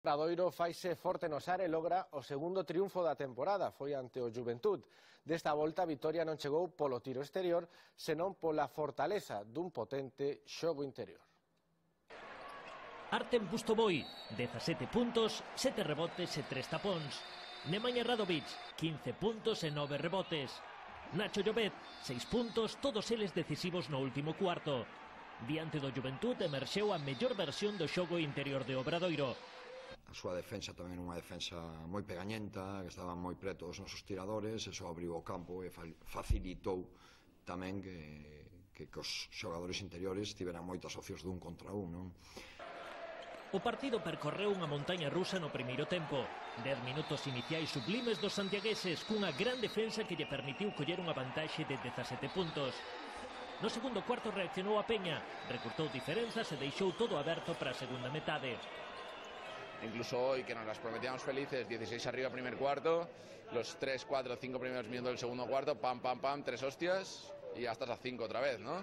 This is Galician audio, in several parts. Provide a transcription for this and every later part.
Obradoiro faise forte no Sar e logra o segundo triunfo da temporada, foi ante o Juventud. Desta volta a vitoria non chegou polo tiro exterior, senón pola fortaleza dun potente xogo interior. Artem Pustovoy, 17 puntos, 7 rebotes e 3 tapóns. Nemanja Radovic, 15 puntos e 9 rebotes. Nacho Llobet, 6 puntos, todos eles decisivos no último cuarto. Diante do Juventud emerxeu a mellor versión do xogo interior de Obradoiro. A súa defensa tamén unha defensa moi pegañenta, que estaban moi preto os nosos tiradores, eso abriu o campo e facilitou tamén que os xogadores interiores tiveran moitas opcións dun contra un, non? O partido percorreu unha montaña rusa no primeiro tempo. 10 minutos iniciais sublimes dos santiagueses cunha gran defensa que lle permitiu coller unha vantaxe de 17 puntos. No segundo cuarto reaccionou a Peña, recortou diferenzas e deixou todo aberto para a segunda metade. Incluso hoy, que nos las prometíamos felices, 16 arriba primer cuarto, los 3, 4, 5 primeros minutos del segundo cuarto, pam, pam, pam, 3 hostias y ya estás a 5 otra vez, ¿no?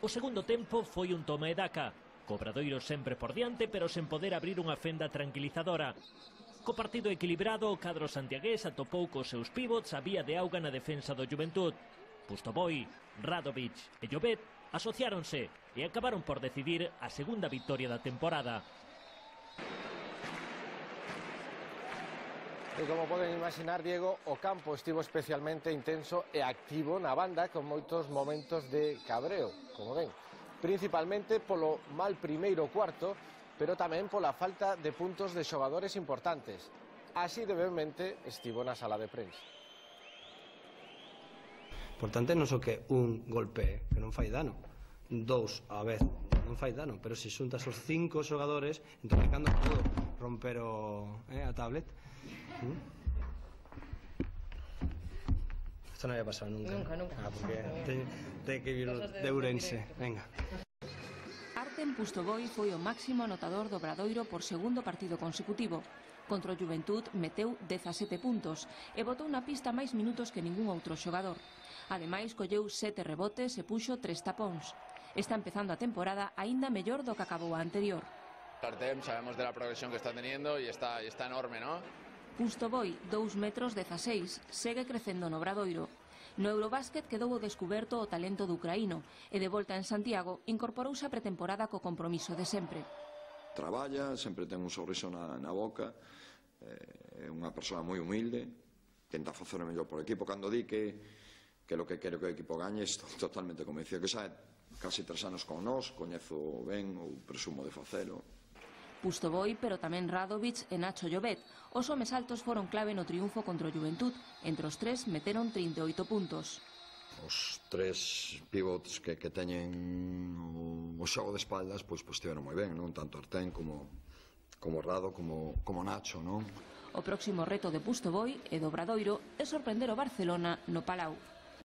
O segundo tempo foi un toma e daca. Obradoiro sempre por diante, pero sen poder abrir unha fenda tranquilizadora. Co partido equilibrado, o cadro santiagués atopou cos seus pivots a vía de auga na defensa do Juventud. Pustovoy, Radovic e Llobet asociáronse e acabaron por decidir a segunda victoria da temporada. E como poden imaginar, Diego, o campo estivo especialmente intenso e activo na banda con moitos momentos de cabreo, como ven. Principalmente polo mal primeiro cuarto, pero tamén pola falta de puntos de xogadores importantes. Así de veemente estivo na sala de prensa. Importante non só que un golpe que non fai dano, dous a vez non fai dano, pero se xuntas os 5 xogadores, entón cando podo romper a tablet. Isto non había pasado nunca. Nunca. Porque ten que vir de Ourense. Venga. Artem Pustovoy foi o máximo anotador do Obradoiro por segundo partido consecutivo. Contra o Juventud meteu 17 puntos e botou na pista máis minutos que ningún outro xogador. Ademais, colleu 7 rebotes e puxo 3 tapóns. Está empezando a temporada aínda mellor do que acabou a anterior. Artem, sabemos de la progresión que está teniendo y está enorme, ¿no? Pustovoy, 2 metros 16, segue crecendo no Obradoiro. No Eurobásquet quedou ao descuberto o talento do ucraíno e de volta en Santiago incorporouse a pretemporada co compromiso de sempre. Traballa, sempre ten un sorriso na boca, é unha persoa moi humilde, tenta facer o mellor por equipo. Cando di que lo que quero que o equipo gañe, estou totalmente convencido que xa casi 3 anos con nós, coñezo ben ou presumo de facelo. Pustovoy, pero tamén Radovic e Nacho Llobet. Os homes altos foron clave no triunfo contra o Juventud. Entre os 3 meteron 38 puntos. Os 3 pivots que teñen o xogo de espaldas, pois estiveron moi ben, non? Tanto Artem como Rado como Nacho, non? O próximo reto de Pustovoy e do Obradoiro é sorprender o Barcelona no Palau.